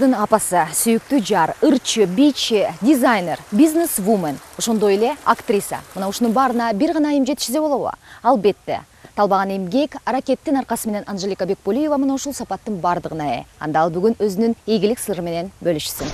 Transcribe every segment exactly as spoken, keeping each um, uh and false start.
Кыздын апасы, сүйүктүү жар, ырчы, бийчи, дизайнер, бизнес-вумен, ошондой эле актриса. Мына ушунун баарына бир гана айым жетишсе болобу? Албетте. Талбаган эмгек, аракеттин аркасы менен Анжелика Бекболиева мына ушул сапаттын бардыгына ээ. Анда ал бүгүн өзүнүн ийгилик сыры менен бөлүшсүн.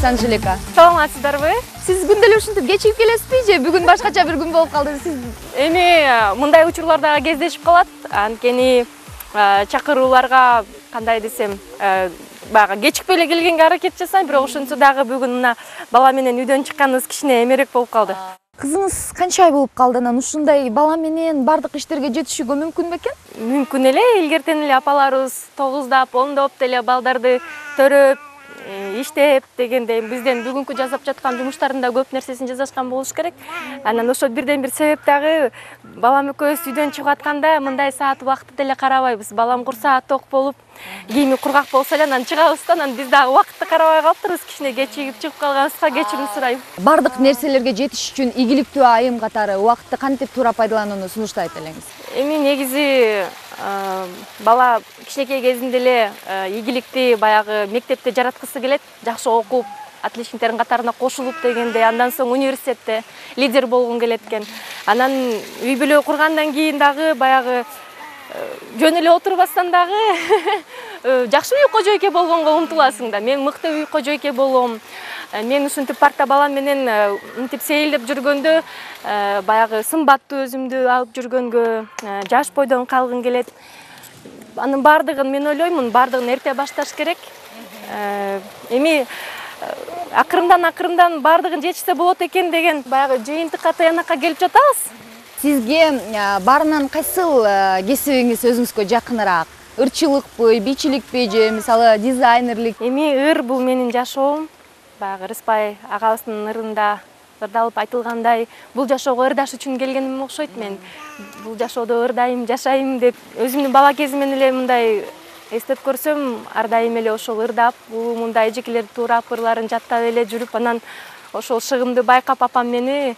Анжелика. Саламатсыздарбы? Сиз күндө эле ушинтип кечигип келесизби же бүгүн башкача бир күн болуп калды? Сиз эми мындай учурлар дагы кездешип калат. Анткени чакырууларга кандай десем, баягы кечикпей эле келгенге аракет жасайм, бирок ошентсе дагы бүгүн мына бала менен үйдөн чыкканыбыз кичине эмерээк болуп калды. Кызыңыз канча ай болуп калды? Анан ушундай бала менен бардык иштерге жетишүүгө мүмкүн бекен? Мүмкүн эле. Илгертен эле апаларыбыз тогуздап, ондоп деле балдарды төрөп, иштеп дегендей бизден бүгүнкү жасап жаткан жумуштардын да көп нерсесин жасашкан болуш керек. Анан ошо бирден бир себеп дагы балам экөөбүз үйдөн чыгып атканда мындай саат убакытты деле карабайбыз. Балам курсаа ток болуп, кийими кургак болсо эле анан чыгабыз да, анан биз дагы убакытты карабай калыптырбыз. Кичине кечигип чыгып калганыбызга кечирим сурайм. Бардык нерселерге жетиш үчүн ийгиликтүү айым катары убакытты кантип туура пайдаланууну сунуштайт элеңиз? Эми негизи бала кичинекей кезинде эле ийгиликти баягы мектепте жараткысы келет, жакшы окуп, отличниктердин катарына кошулуп дегендей, андан соң университетте лидер болгун келет экен. Анан үй бүлө кургандан кийин дагы баягы жөн эле отурбастан дагы жакшы үй кожойке болгонго умтуласың да. Мен мыкты үй кожойке болом. Мен ушинтип парта балам менен мынтип сейилдеп жүргөндө баягы сымбаттуу өзүмдү алып жүргөнгө, жаш бойдон калгым келет. Анын бардыгын мен ойлоймун, бардыгын эрте башташ керек. Эми акырындан акырындан бардыгын жетишсе болот экен деген баягы жыйынтыкка таянакка келип жатабыз. Сизге баарынан кайсыл кесибиңиз өзүңүзгө жакыныраак? Ырчылыкпы, бийчиликпи же мисалы дизайнерлик? Эми ыр бул менин жашоом. Баягы Рыспай агабыздын ырында ырдалып айтылгандай, бул жашоого ырдаш үчүн келгеним окшойт. Мен бул жашоодо ырдайм, жашайм деп өзүмдүн бала кезимден эле мындай эстеп көрсөм, ар дайым эле ошол ырдап, мындай эжекелерди туурап, ырларын жаттап эле жүрүп, анан ошол шыгымды байкап апам мени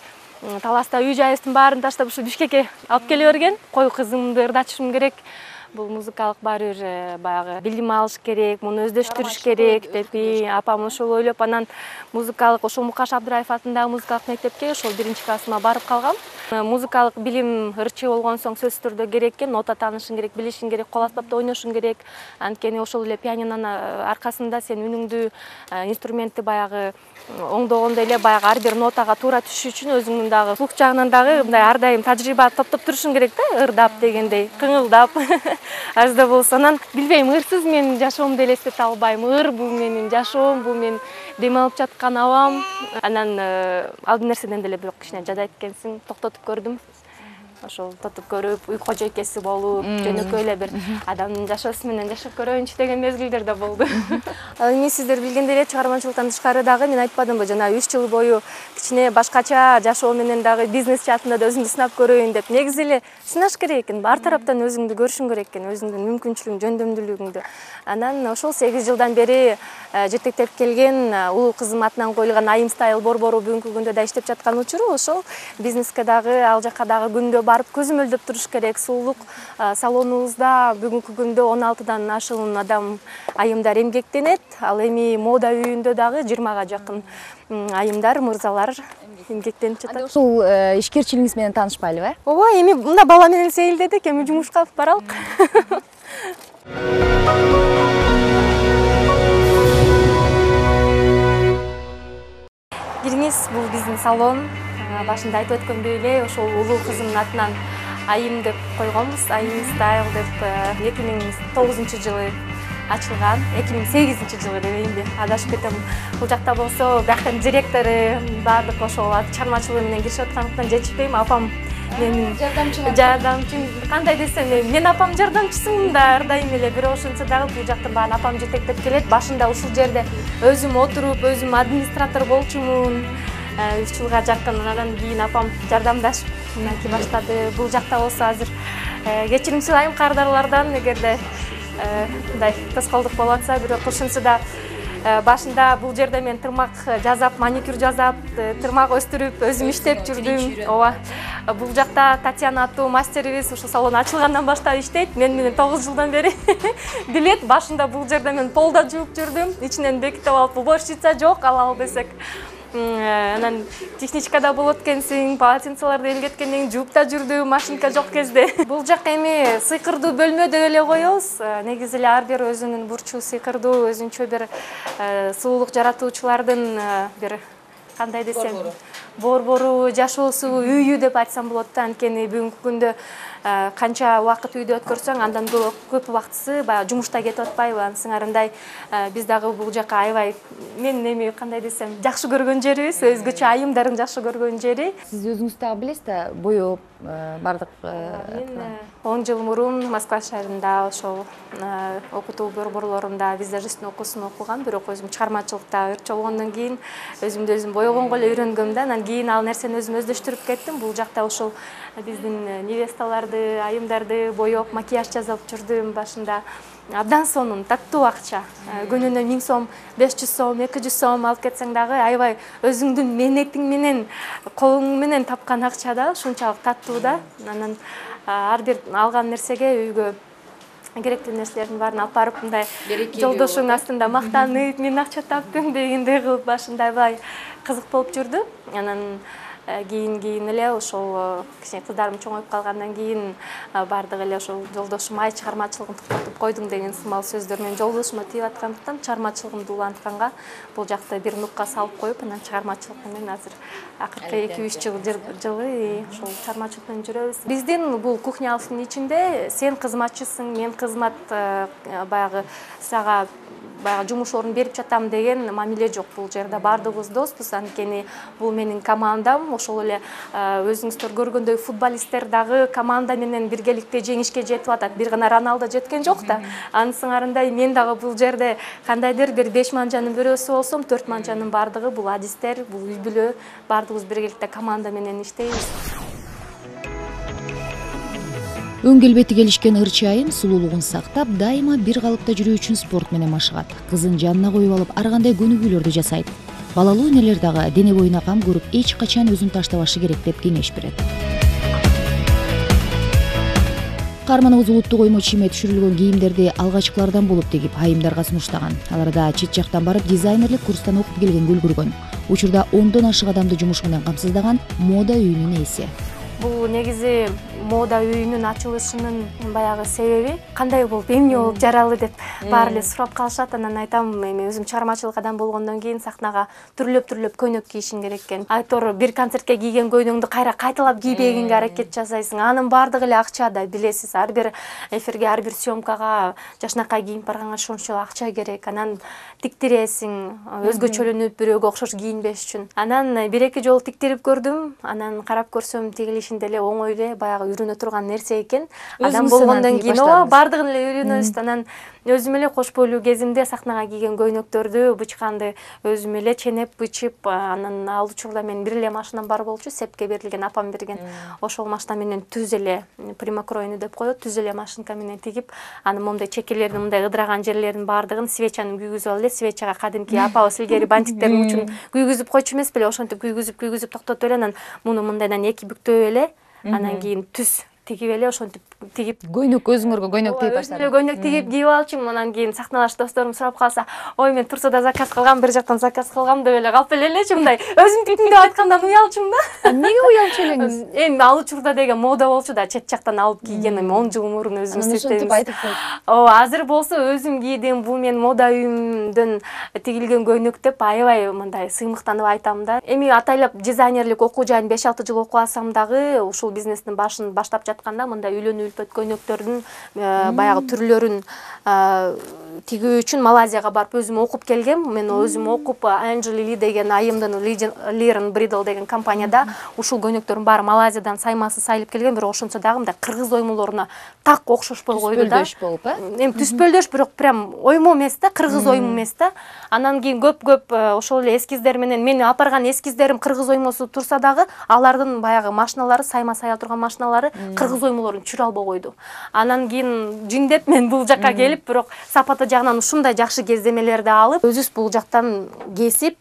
таласта үй жайыбыздын баарын таштап ушу Бишкекке алып келе берген. Кой кызымды ырдатышым керек. Бул музыкалык баары бир баягы билим алыш керек, муну өздөштүрүш керек деп апам ошол ойлоп, анан музыкалык ошол Мукаш Абдыраев атындагы музыкалык мектепке ошол биринчи классыма барып калгам. Музыкалык билим ырчы болгон соң сөзсүз түрдө керек экен, нота таанышың керек, билишиң керек, кол аспапта ойношуң керек. Анткени ошол эле пианинонун аркасында сен үнүңдү, инструментти баягы оңдогондо эле баягы ар бир нотага туура түшүш үчүн өзүңдүн дагы слух жагынан дагы мындай ар дайым тажрыйба топтоп турушуң керек да, ырдап дегендей, кыңылдап. Ажда болсо, анан билбейм, ырсыз мен жашоомду элестете албайм. Ыр бул менин жашоом, бул мен дем алып жаткан абам. Анан ал нерседен деле бирок кичине жадайт экенсиң, токтотуп көрдүм. Ошол тотуп көрүп, үй кожойкеси болуп, жөнөкөй эле бир адамдын жашоосу менен жашап көрөйүнчү деген мезгилдер да болду. Эми сиздер билгендей эле чыгармачылыктан тышкары дагы мен айтпадымбы, жана үч жыл бою кичине башкача жашоо менен дагы бизнес жаатында да өзүмдү сынап көрөйүн деп. Негизи эле сынаш керек экен, ар тараптан өзүңдү көрүшүң керек экен, өзүңдүн мүмкүнчүлүгүң, жөндөмдүүлүгүңдү. Анан ошол сегиз жылдан бери жетектеп келген улуу кызым атынан коюлган Айым Стайл борбору бүгүнкү күндө да иштеп жаткан учуру ошол бизнеске дагы, ал жака дагы күндө барып көзөмөлдөп туруш керек. Сулуулук салонубузда бүгүнкү күндө он алтыдан ашуун адам айымдар эмгектенет. Ал эми мода үйүндө дагы жыйырмага жакын айымдар, мырзалар эмгектенип жатат. Ушул ишкерчилигиңиз менен таанышпайлыбы? Ооба, эми мында бала менен сейилдедик, эми жумушка алып баралык. Кириңиз, бул биздин салон. Башында айтып өткөндөй эле ошол улуу кызымдын атынан Айым деп койгонбуз. Айым Стайл деп эки миң тогузунчу жылы ачылган. эки миң сегизинчи жылы дебейинби, адашып кетем. Бул жакта болсо бияктын директору баардык ошол чыгармачылыгы менен киришип аткандыктан жетишпейм. Апам менин жардамчым. Жардамчым кандай десем, мен апам жардамчысымын да ар дайым эле, бирок ошентсе дагы бул жактын баарын апам жетектеп келет. Башында ушул жерде өзүм отуруп, өзүм администратор болчумун. үч жылга жакын. Андан кийин апам жардамдашып мынакей баштады. Бул жакта болсо азыр кечирим сурайм кардарлардан, эгерде мындай тоскоолдук болуп атса, бирок ушунусу да башында бул жерде мен тырмак жасап, маникюр жасап, тырмак өстүрүп, өзүм иштеп жүрдүм. Ооба. Бул жакта Татьяна аттуу мастерибиз ушу салон ачылгандан баштап иштейт. Мен менен тогуз жылдан бери билет. Башында бул жерде мен полда жууп жүрдүм. Ичинен бекитип алып, уборщица жок, алалы десек. Анан техничкада болот экенсиң, полотенцелерди эмгеткенден кийин жууп да жүрдүм, машинка жок кезде. Бул жак эми сыйкырдуу бөлмө деп эле коебуз. Негизи эле ар бир өзүнүн бурчу сыйкырдуу, өзүнчө бир суулук жаратуучулардын бир кандай десем, борбору, жашоосу, үйү деп айтсам болот да. Анткени бүгүнкү күндө канча убакыт үйдө өткөрсөң, андан көп убактысы баягы жумушта кетип атпайбы? Анын сыңарындай биз дагы бул жака аябай, мен эми кандай десем, жакшы көргөн жерибиз, өзгөчө айымдардын жакшы көргөн жери. Сиз өзүңүз дагы билесиз да, боеп бардык. Мен он жыл мурун Москва шаарында ошол окутуу борборлорунда визажисттин окуусун окугам, бирок өзүм чыгармачылыкта ырчы болгондон кийин өзүмдү өзүм боегонго эле үйрөнгөм да. Анан кийин ал нерсени өзүм өздөштүрүп кеттим. Бул жакта ошол биздин невесталарды, айымдарды боеп, макияж жасап жүрдүм башында. Абдан сонун, таттуу акча. Күнүнө миң сом, беш жүз сом, эки жүз сом алып кетсең дагы аябай өзүңдүн менетиң менен, колуң менен тапкан акча да, ушунчалык таттуу да. Анан ар бир алган нерсеге үйгө керектүү нерселердин баарын алып барып, мындай жолдошуң астында мактанып, мен акча таптым дегендей кылып башында аябай кызык болуп жүрдү. Анан кийин кийин эле ошол кичине кыздарым чоңоюп калгандан кийин бардык эле ошол жолдошум ай чыгармачылыгын токтотуп койдуң деген сымал сөздөр менен жолдошума тиеп аткандыктан чыгармачылыгымды улантканга бул жакта бир нукка салып коюп, анан чыгармачылык менен азыр акыркы эки үч жыл жылы ошол чыгармачылык менен жүрөбүз. Биздин бул кухнябыздын ичинде сен кызматчысың, мен кызмат баягы сага баягы жумуш орун берип жатам деген мамиле жок. Бул жерде бардыгыбыз доспуз, анткени бул менин командам. Ошол эле өзүңүздөр көргөндөй футболисттер дагы команда менен биргеликте жеңишке жетип атат. Бир гана Роналдо жеткен жок да. Анын сыңарындай мен дагы бул жерде кандайдыр бир беш манжанын бирөөсү болсом, төрт манжанын бардыгы бул адистер, бул үй бүлө, бардыгыбыз биргеликте команда менен иштейбиз. Өң келбети келишкен ырчы айым сулуулугун сактап, дайыма бир калыпта жүрүү үчүн спорт менен машыгат. Кызын жанына коюп алып, ар кандай көнүгүүлөрдү жасайт. Балалуу энелер дагы дене боюна кам көрүп, эч качан өзүн таштабашы керек деп кеңеш берет. Каарманыбыз улуттук оймо чийме түшүрүлгөн кийимдерди алгачкылардан болуп тигип, айымдарга сунуштаган. Аларда чет жактан барып дизайнерлик курстан окуп келгенге үлгүргөн. Учурда ондон ашык адамды жумуш менен камсыздаган мода үйүнүн ээси. Бул негизи мода үйүнүн ачылышынын баягы себеби кандай болуп, эмне болуп жаралы деп баары эле сурап калышат. Анан айтам, эми өзүм чыгармачылык адам болгондон кийин сахнага түрлөп-түрлөп көйнөк кийишиң керек экен. Айтор бир концертке кийген көйнөгүңдү кайра кайталап кийбегенге аракет жасайсың. Анын баардыгы эле акча да, билесиз. Ар бир эфирге, ар бир съемкага, жашнакай кийинип барганга ошончо акча керек. Анан тиктиресиң, өзгөчөлөнүп, бирөөгө окшош кийинбеш үчүн. Анан бир эки жолу тиктирип көрдүм. Анан карап көрсөм, тигилишинде эле оңой эле, баягы үйрөнө турган нерсе экен. Адам болгондон кийин ооба бардыгын эле үйрөнөбүз. Анан өзүм эле кош бойлуу кезимде сахнага кийген көйнөктөрдү, бычканды өзүм эле ченеп, бычып, анан ал учурда мен бир эле машинам бар болчу, сепке берилген, апам берген. Ошол машина менен түз эле примокройну деп коет, түз эле машинка менен тигип, анын момундай чекелерин, мындай ыдыраган жерлерин баардыгын свечаны күйгүзүп алып эле, свечага кадимки апабыз илгери бантиктердин учун күйгүзүп койчу эмес беле, ошентип күйгүзүп, күйгүзүп токтотуп эле, анан муну мындайдан эки бүктөп эле, анан кийин түз тигип эле ошентип тигип көйнөк өзүңөргө көйнөк тигип баштадым. Көйнөк тигип кийип алчумун. Анан кийин сахналаш досторум сурап калса, ой мен Турсуда заказ кылгам, бир жактан заказ кылгам деп эле калып элечи, мындай өзүм тиктим деп айткандан уялчумун да. Эмнеге уялчу элеңиз? Эми ал учурда деген мода болчу да, чет жактан алып кийген, эми он жыл мурун өзүм иштейбиз. Ооба, азыр болсо өзүм кийдим, бул мен мода үйүмдөн тигилген көйнөк деп аябай мындай сыймыктанып айтам да. Эми атайлап дизайнерлик окуу жайын беш алты жыл окуп алсам дагы, ушул бизнестин башын баштап жатканда мындай үйлөнүү үлпөт көйнөктөрдүн баягы түрлөрүн тигүү үчүн Малайзияга барып өзүм окуп келгем. Мен өзүм окуп Angel Lee деген айымдын Learn Bridal деген компанияда ушул көйнөктөрдүн баары Малайзиядан саймасы сайылып келген, бирок ошончо дагы мындай кыргыз оймолоруна так окшошпой койду да. Түспөлдөш болуп, э? Эми түспөлдөш, бирок прям оймо эмес да, кыргыз оймо эмес да. Анан кийин көп-көп ошол эле эскиздер менен мени алып барган эскиздерим кыргыз оймосу турса дагы, алардын баягы машиналары, сайма сая турган машиналары кыргыз оймолорун түшүрө албай койду. Анан кийин жиндеп мен бул жакка келип, бирок сапаты жагынан ушундай жакшы кездемелерди алып, өзүбүз бул жактан кесип,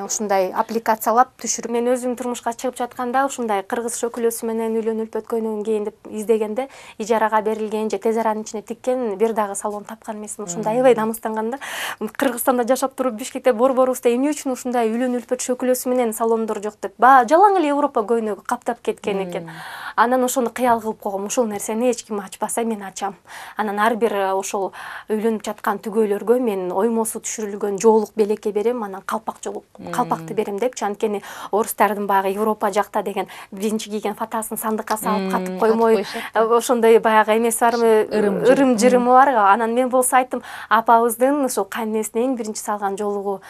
ушундай аппликациялап түшүрүп, мен өзүм турмушка чыгып жатканда ушундай кыргыз шөкүлөсү менен үйлөнүп үлпөт көйнөгүн кийин деп издегенде, ижарага берилген же тез аранын ичине тиккен бир дагы салон тапкан эмесмин. Ушундай аябай намыстанганда, Кыргызстанда жашап туруп Бишкекте борборубузда эмне үчүн ушундай үйлөнүп үлпөт шөкүлөсү менен салондор жок деп, баа жалаң эле Европа көйнөгү каптап кеткен экен. Анан ошону кыял кылып койгом, ушул нерсени эч ким ачпаса мен ачам. Анан ар бир ошол үйлөнүп жаткан түгөйлөргө мен оймосу түшүрүлгөн жоолук белекке берем, анан калпак жоолук калпакты берем депчи. Анткени орустардын баягы Европа жакта деген биринчи кийген фатасын сандыкка салып катып коймой, ошондой баягы эмеси барбы, ырым-жырымы бар. Анан мен болсо айттым, апабыздын ошол кайненесинин эң биринчи салган жоолугу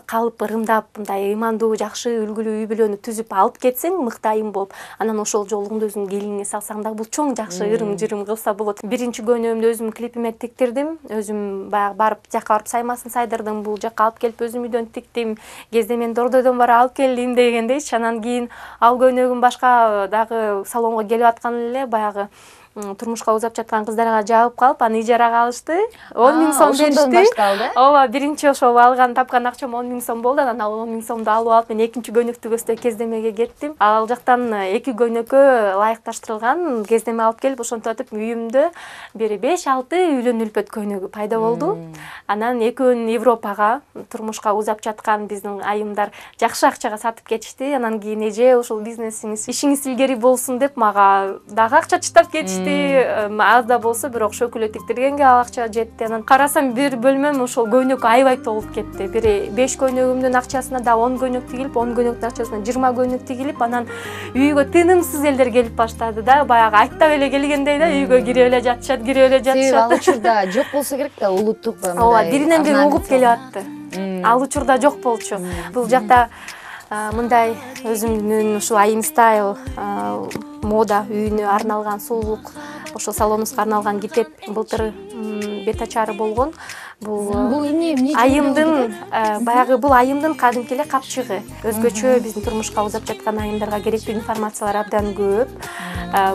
калып ырымдап, мындай ыймандуу, жакшы үлгүлүү үй бүлөнү түзүп алып кетсең, мыкты айым болуп, анан ошол жоолугунду өзүңдүн келиниңе салсаң дагы бул чоң жакшы ырым-жырым кылса болот. Биринчи көйнөгүмдү өзүм клипиме тиктирдим, өзүм баягы барып жакка барып саймасын сайдырдым, бул жакка алып келип өзүм үйдөн тиктим, кездемен Дордойдон бара алып келдим дегендейчи. Анан кийин ал көйнөгүм башка дагы салонго келип аткан эле баягы турмушка узап жаткан кыздарга жабып калып, аны ижарага алышты. он миң сом беришти. Ооба, биринчи ошол алган тапкан акчам он миң сом болду. Анан ал он миң сомду алып алып мен экинчи көйнөктү көздөй кездемеге кеттим. Ал жактан эки көйнөккө ылайыкташтырылган кездеме алып келип, ошентип үйүмдө бир беш алты үйлөнүп үлпөт көйнөгү пайда болду. Анан экөөнүн Европага турмушка узап жаткан биздин айымдар жакшы акчага сатып кетишти. Анан кийин эже ушул бизнесиңиз, ишиңиз илгери болсун деп мага дагы акча чыштап кетишти. Аз да болсо, бирок шөкүлө тиктиргенге ал акча жетти. Анан карасам бир бөлмөм ошол көйнөккө аябай толуп кетти. Бир беш көйнөгүмдүн акчасына да он көйнөк тигилип, он көйнөктүн акчасына жыйырма көйнөк тигилип, анан үйгө тынымсыз элдер келип баштады да, баягы айттап эле келгендей да, үйгө кирип эле жатышат, кирип эле жатышат. Ал учурда жок болсо керек да, улуттук мындай. Ооба, биринен бири угуп келип атты. Ал учурда жок болчу. Бул жакта мындай өзүмдүн ушу айым стайл мода үйүнө арналган сулуулук, ошо салонубузга арналган китеп былтыр бет ачары болгон. Бул бул эмне эмне айымдын баягы бул айымдын кадимки эле капчыгы. Өзгөчө биздин турмушка узап жаткан айымдарга керектүү информациялар абдан көп.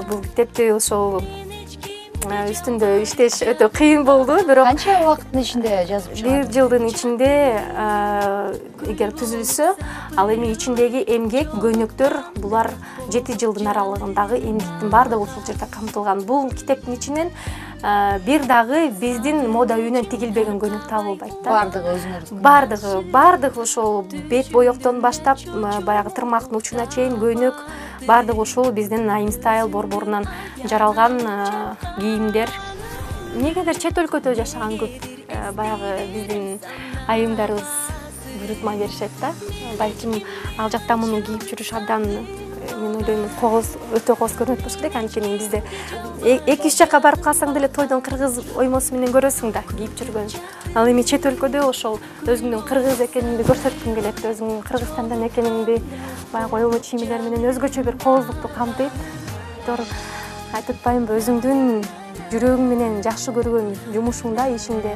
Бул китепти ошол үстүндө иштеш өтө кыйын болду, бирок канча убакыттын ичинде жазып чыгардыңыз? бир жылдын ичинде эгер түзүлсө, ал эми ичиндеги эмгек, көйнөктөр булар жети жылдын аралыгындагы эмгектин баардыгы ушул жерде камтылган. Бул китептин ичинен бир дагы биздин мода үйүнөн тигилбеген көйнөк табылбайт да. Бардыгы өзүңөрдүн. Бардыгы, бардыгы ошол бет боёктон баштап баягы тырмактын учуна чейин көйнөк, бардыгы ушул биздин айым стайл борборунан жаралган кийимдер. Негедир чет өлкөдө жашаган көп баягы биздин айымдарыбыз буйрутма беришет да. Балким ал жакта муну кийип жүрүш абдан, мен ойлойм, кооз, өтө кооз көрүнөт болуш керек. Анткени бизде эки үч жакка барып калсаң деле тойдон кыргыз оймосу менен көрөсүң да кийип жүргөн. Ал эми чет өлкөдө ошол өзүңдүн кыргыз экениңди көрсөткүң келет, өзүң Кыргызстандан экениңди баягы оймо чийимдер менен өзгөчө бир кооздукту камтыйт. Тор айтып атпаймынбы, өзүңдүн жүрөгүң менен жакшы көргөн жумушуңда, ишиңде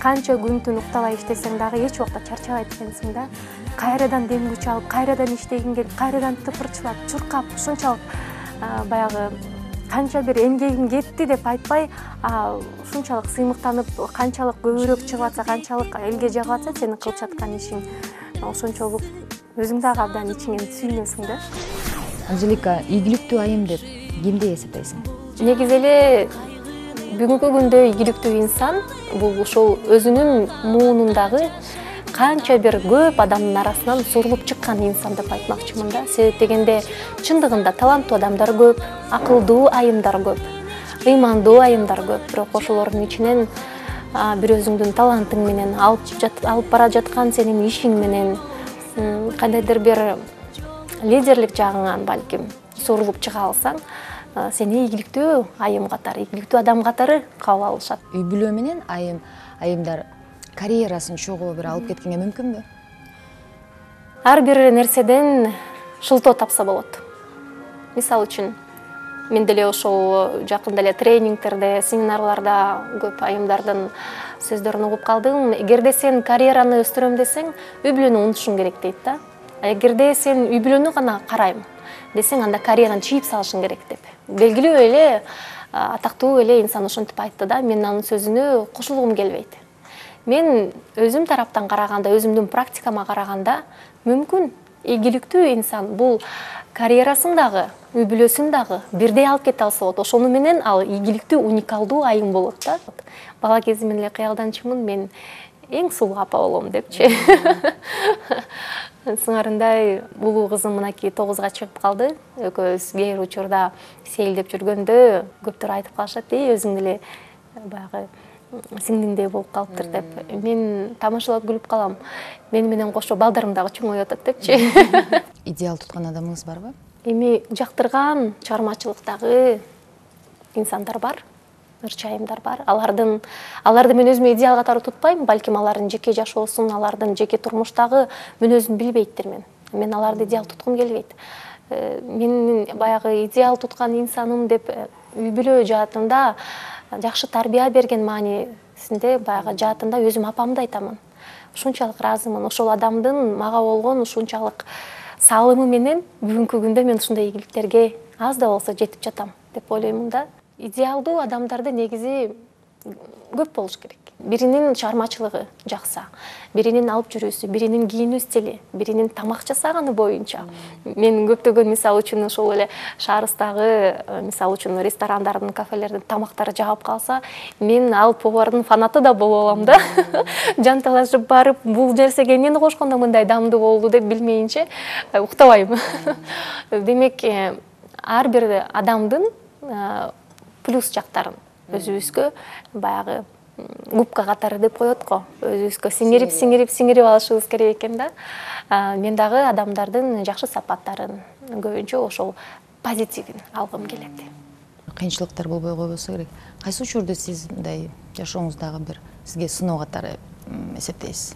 канча күн түн уктабай иштесең дагы эч убакта чарчабайт экенсиң да. Кайрадан дем күч алып, кайрадан иштегиң келип, кайрадан тыпырчылап, чуркап, ушунчалык баягы канча бир эмгегим кетти деп айтпай, ушунчалык сыймыктанып, канчалык көбүрөөк чыгып атса, канчалык элге жагып атса, сенин кылып жаткан ишиң ошончолук өзүң дагы абдан ичиңен сүйүнөсүң да. Анжелика, ийгиликтүү айым деп кимди эсептейсиң? Негизи эле бүгүнкү күндө ийгиликтүү инсан бул ошол өзүнүн муунундагы канча бир көп адамдын арасынан сурулуп чыккан инсан деп айтмакчымын да. Себеп дегенде чындыгында таланттуу адамдар көп, акылдуу айымдар көп, ыймандуу айымдар көп, бирок ошолордун ичинен бир өзүңдүн талантың менен алып бара жаткан сенин ишиң менен кандайдыр бир лидерлик жагыңан балким сурулуп чыга алсаң, сени ийгиликтүү айым катары, ийгиликтүү адам катары кабыл алышат. Үй бүлө менен айым айымдар карьерасын чогуу бир алып кеткенге мүмкүнбү? Ар бир нерседен шылтоо тапса болот. Мисалы үчүн мен деле ошол жакында эле тренингтерде, семинарларда көп айымдардын сөздөрүн угуп калдым. Эгерде сен карьераны өстүрөм десең, үй бүлөнү унутушуң керек дейт да. Эгерде сен үй бүлөнү гана карайм десең, анда карьераны чийип салышың керек деп. Белгилүү эле атактуу эле инсан ошентип айтты да, мен анын сөзүнө кошулгум келбейт. Мен өзүм тараптан караганда, өзүмдүн практикама караганда, мүмкүн ийгиликтүү инсан бул карьерасын дагы, үй бүлөсүн дагы бирдей алып кете алса болот. Ошону менен ал ийгиликтүү, уникалдуу айым болот да. Бала кезимден эле кыялданчумун, мен эң сулуу апа болом депчи. Сыңарындай улуу кызым мынакей тогузга чыгып калды. Экөөбүз кээ бир учурда сейилдеп жүргөндө көптөр айтып калышат, "Эй, өзүң деле баягы сиңдиңдей болуп калыптыр" деп. Мен тамашалап күлүп калам. Мени менен кошо балдарым дагы чоңоюп атат депчи. Идеал туткан адамыңыз барбы? Эми жактырган чыгармачылыктагы инсандар бар, ырчы айымдар бар. Алардын аларды мен өзүмө идеал катары тутпайм, балким алардын жеке жашоосун, алардын жеке турмуштагы мүнөзүн билбейттир мен. Мен аларды идеал туткум келбейт. Менин баягы идеал туткан инсаным деп үй бүлө жаатында жакшы тарбия берген маанисинде баягы жаатында өзүм апамды айтамын. Ушунчалык ыраазымын. Ошол адамдын мага болгон ушунчалык салымы менен бүгүнкү күндө мен ушундай ийгиликтерге аз да болсо жетип жатам деп ойлоймун да. Идеалдуу адамдарды негизи көп болуш керек. Биринин чыгармачылыгы жакса, биринин алып жүрүүсү, биринин кийинүү стили, биринин тамак жасаганы боюнча. Мен көптөгөн мисалы үчүн ошол эле шаарыбыздагы мисалы үчүн ресторандардын, кафелердин тамактары жагып калса, мен ал повардын фанаты да боло алам да. Жанталашып барып, бул нерсеге эмнени кошкондо мындай дамдуу болду деп билмейинче уктабайм. Демек, ар бир адамдын плюс жактарын өзүбүзгө баягы губка катары деп коет го. Өзүбүзгө сиңирип, сиңирип, сиңирип алышыбыз керек экен да. Мен дагы адамдардын жакшы сапаттарын, көбүнчө ошол позитивин алгым келет. Кыйынчылыктар болбой койбосо керек. Кайсы учурду сиз мындай жашооңуздагы бир сизге сыноо катары эсептейсиз?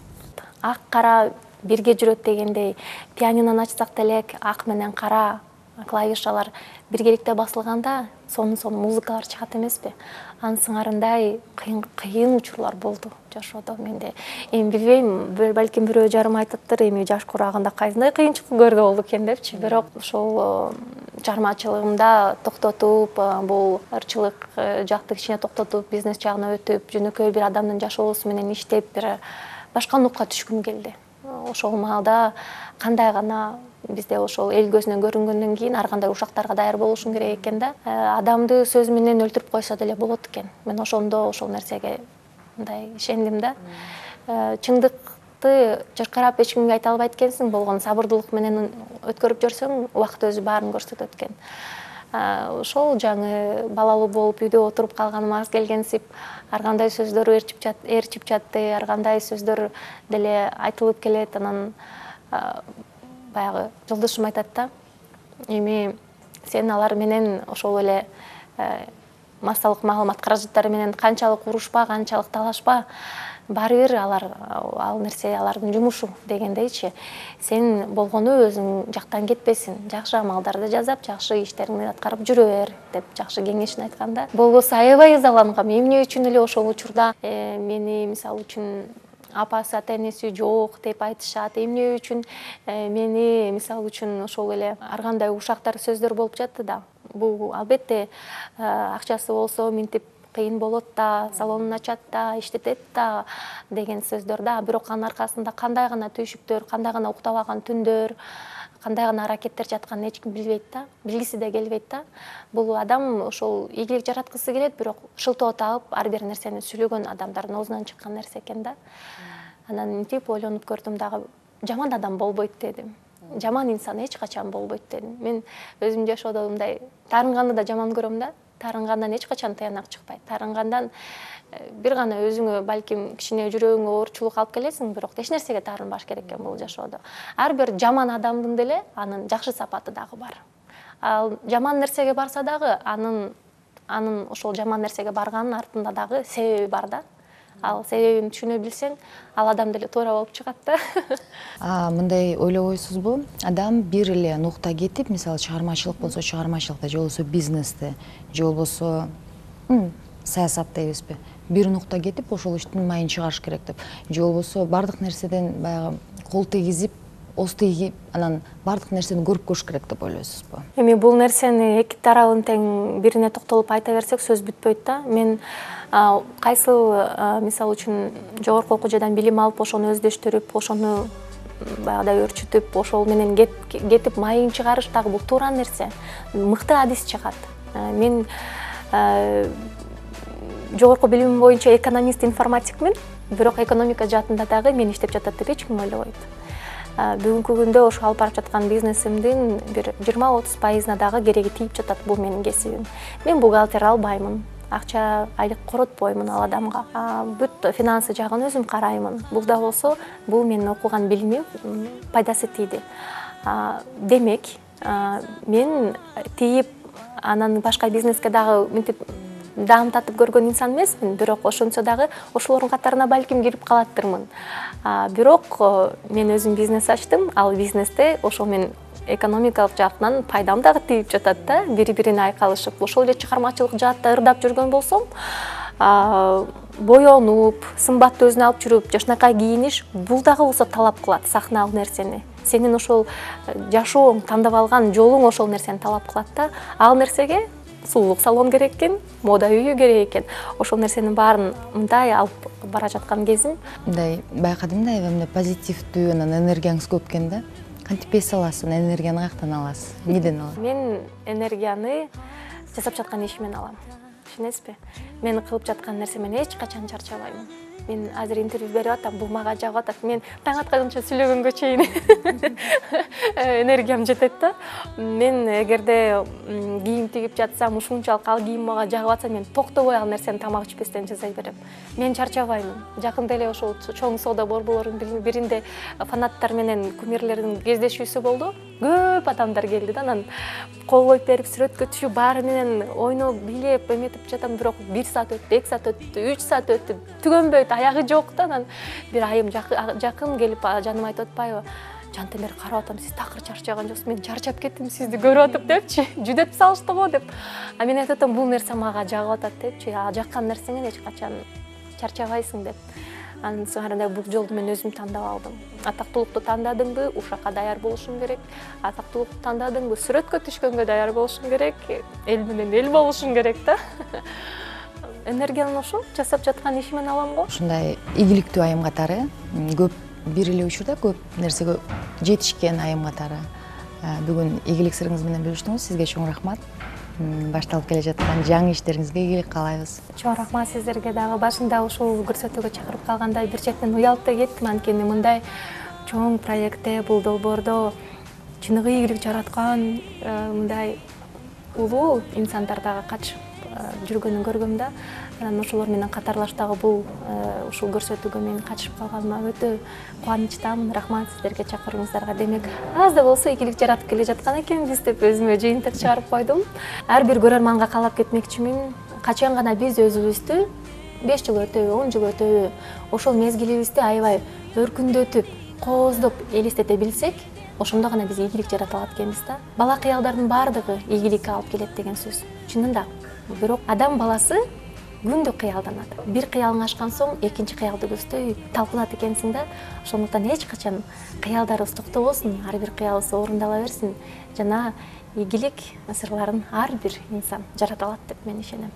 Ак кара бирге жүрөт дегендей, пианинону ачсак делек, ак менен кара клавишалар биргеликте басылганда, сонун-сонун музыкалар чыгат эмеспи? Анын сыңарындай кыйын кыйын учурлар болду жашоодо менде. Эми билбейм, балким бирөө жарым айтыптыр, эми жаш курагында кайсындай кыйынчылык көрдү болду экен депчи. Бирок ошол чыгармачылыгымда токтотуп, бул ырчылык жакты кичине токтотуп, бизнес жагына өтүп, жөнөкөй бир адамдын жашоосу менен иштеп, бир башка нукка түшкүм келди. Ошол маалда кандай гана бизде ошол эл көзүнөн көрүнгөндөн кийин ар кандай ушактарга даяр болушуң керек экен да. Адамды сөз менен өлтүрүп койсо деле болот экен. Мен ошондо ошол нерсеге мындай ишендим да. Чындыкты чыркырап эч кимге айта албайт экенсиң, болгон сабырдуулук менен өткөрүп жүрсөң, убакыт өзү баарын көрсөтөт экен. Ошол жаңы балалуу болуп үйдө отуруп калганыма аз келгенсип, ар кандай сөздөр ээрчип жатты, ар кандай сөздөр деле айтылып келет. Анан баягы жолдошум айтат да, эми сен алар менен ошол эле массалык маалымат каражаттары менен канчалык урушпа, канчалык талашпа, баары бир алар ал нерсе алардын жумушу дегендейчи. Сен болгону өзүң жактан кетпесин, жакшы амалдарды жасап, жакшы иштериңди аткарып жүрө бер деп жакшы кеңешин айтканда. Болбосо аябай ызалангам. Эмне үчүн эле ошол учурда мени мисалы үчүн апасы, ата-энеси жок деп айтышат. Эмне үчүн мени мисалы үчүн ошол эле ар кандай ушактар сөздөр болуп жатты да. Бул албетте акчасы болсо минтип кыйын болот да, салонун ачат да, иштетет да деген сөздөр да. Бирок анын аркасында кандай гана түйшүктөр, кандай гана уктабаган түндөр, кандай гана аракеттер жатканын эч ким билбейт да, билгиси да келбейт да. Бул адам ошол ийгилик жараткысы келет, бирок шылтоо таап ар бир нерсени сүйлөгөн адамдардын оозунан чыккан нерсе экен да. Анан мынтип ойлонуп көрдүм дагы, жаман адам болбойт дедим. Жаман инсан эч качан болбойт дедим. Мен өзүм жашоодо мындай таарынганды да жаман көрөм да. Таарынгандан эч качан таянак чыкпайт. Таарынгандан бир гана өзүңө балким кичине жүрөгүңө оорчулук алып келесиң, бирок эч нерсеге таарынбаш керек экен бул жашоодо. Ар бир жаман адамдын деле анын жакшы сапаты дагы бар. Ал жаман нерсеге барса дагы анын анын ошол жаман нерсеге барганын артында дагы себеби бар да. Ал себебин түшүнө билсең, ал адам деле туура болуп чыгат да. А мындай ойлобойсузбу? Адам бир эле нукта кетип, мисалы чыгармачылык болсо чыгармачылыкта, же болбосо бизнесте, же болбосо саясатта эмеспи? Бир нукта кетип, ошол иштин майын чыгарыш керек деп. Же болбосо бардык нерседен баягы кол тийгизип, оз тийгип, анан бардык нерсени көрүп көш керек деп ойлойсузбу? Эми бул нерсени эки тарабын тең бирине токтолуп айта берсек сөз бүтпөйт да. Мен кайсыл мисалы үчүн жогорку окуу жайдан билим алып, ошону өздөштүрүп, ошону баягыдай өрчүтүп, ошол менен кетип майын чыгарыш дагы бул туура нерсе. Мыкты адис чыгат. Мен жогорку билимим боюнча экономист, информатикмин, бирок экономика жаатында дагы мен иштеп жатат деп эч ким ойлобойт. Бүгүнкү күндө ошо алып барып жаткан бизнесимдин бир жыйырма отуз пайызына дагы кереги тийип жатат бул менин кесибим. Мен бухгалтер албаймын, акча айлык коротпоймун ал адамга. Бүт финансы жагын өзүм караймын. Бул да болсо, бул менин окуган билимим пайдасы тийди. Демек, мен тийип, анан башка бизнеске дагы мынтип даамдатып көргөн инсан эмесмин, бирок ошончо дагы ошолордун катарына балким кирип калаттырмын. Бирок мен өзүм бизнес ачтым, ал бизнесте ошол мен экономикалык жактан пайдам дагы тийип жатат да, бири-бирине айкалышып. Ошол эле чыгармачылык жаатта ырдап жүргөн болсом, боёнуп, сымбатты өзүнө алып жүрүп, жакшынакай кийиниш, бул дагы болсо талап кылат сахналык нерсени. Сенин ошол жашооң, тандап алган жолуң ошол нерсени талап кылат да. Ал нерсеге сулуулук салон керек экен, мода үйү керек экен. Ошол нерсенин баарын мындай алып бара жаткан кезим. Мындай байкадым да, эмне позитивдүү, анан энергияңыз көп экен да. Кантип эс аласыз, энергияны каяктан аласыз? Эмнеден аласыз? Мен энергияны жасап жаткан ишимен алам. Түшүнөсүзбү? Мен кылып жаткан нерсемен эч качан чарчабайм. Мен азыр интервью берип атам, бул мага жагып атат. Мен таң атканча сүйлөгөнгө чейин энергиям жетет да. Мен эгерде кийим тигип жатсам, ушунчалык ал кийим мага жагып атса, мен токтобой ал нерсени тамак ичпестен жасай берем. Мен чарчабаймын. Жакында эле ошол чоң соода борборлорунун биринде фанаттар менен кумирлердин кездешүүсү болду. Көп адамдар келди да, анан кол коюп берип, сүрөткө түшүп, баары менен ойноп, бийлеп, эметип жатам, бирок бир саат өттү, эки саат өттү, үч саат өттү, түгөнбөйт, аягы жок да. Анан бир айым жакын келип жаныма айтып атпайбы? Жантемир, карап атам, сиз такыр чарчаган жоксуз, мен чарчап кеттим сизди көрүп атып депчи, жүдөп салышты го деп. А мен айтып атам, бул нерсе мага жагып атат депчи, а жаккан нерсеңен эч качан чарчабайсың деп. Анын соңунда бул жолду мен өзүм тандап алдым. Атактуулукту тандадыңбы, ушакка даяр болушуң керек. Атактуулукту тандадыңбы, сүрөткө түшкөнгө даяр болушуң керек. Эл менен эл болушуң керек да. Энергияны ошо жасап жаткан ишимен алам го. Ушундай ийгиликтүү айым катары көп бир эле учурда көп нерсеге жетишкен айым катары бүгүн ийгилик сырыңыз менен бөлүштүңүз. Сизге чоң рахмат. Башталып келе жаткан жаңы иштериңизге ийгилик каалайбыз. Чоң рахмат сиздерге дагы. Башында ушул көрсөтүүгө чакырып калгандай бир четен уялып да кеттим, анткени мындай чоң проектте, бул долбоордо чыныгы ийгилик жараткан мындай улуу инсандар дагы катышып жүргөнүн көргөм да. Анан ошолор менен катарлаштагы бул ушул көрсөтүүгө мен катышып калганыма өтө кубанычтамын. Рахмат сиздерге чакырууңуздарга. Демек, аз да болсо ийгилик жаратып келе жаткан экенбиз деп өзүмө жыйынтык чыгарып койдум. Ар бир көрөрманга каалап кетмекчимин. Качан гана биз өзүбүздү беш жыл өтөбү, он жыл өтөбү, ошол мезгилибизди аябай өркүндөтүп, кооздоп элестете билсек, ошондо гана биз ийгилик жарата алат экенбиз да. Бала кыялдардын баардыгы ийгиликке алып келет деген сөз. Чынында. Бирок адам баласы күндө кыялданат. Бир кыялың ашкан соң экинчи кыялды көздөй талпынат экенсиң да. Ошондуктан эч качан кыялдарыбыз токтобосун, ар бир кыялыбыз орундала берсин. Жана ийгилик сырларын ар бир инсан жарата алат деп мен ишенем.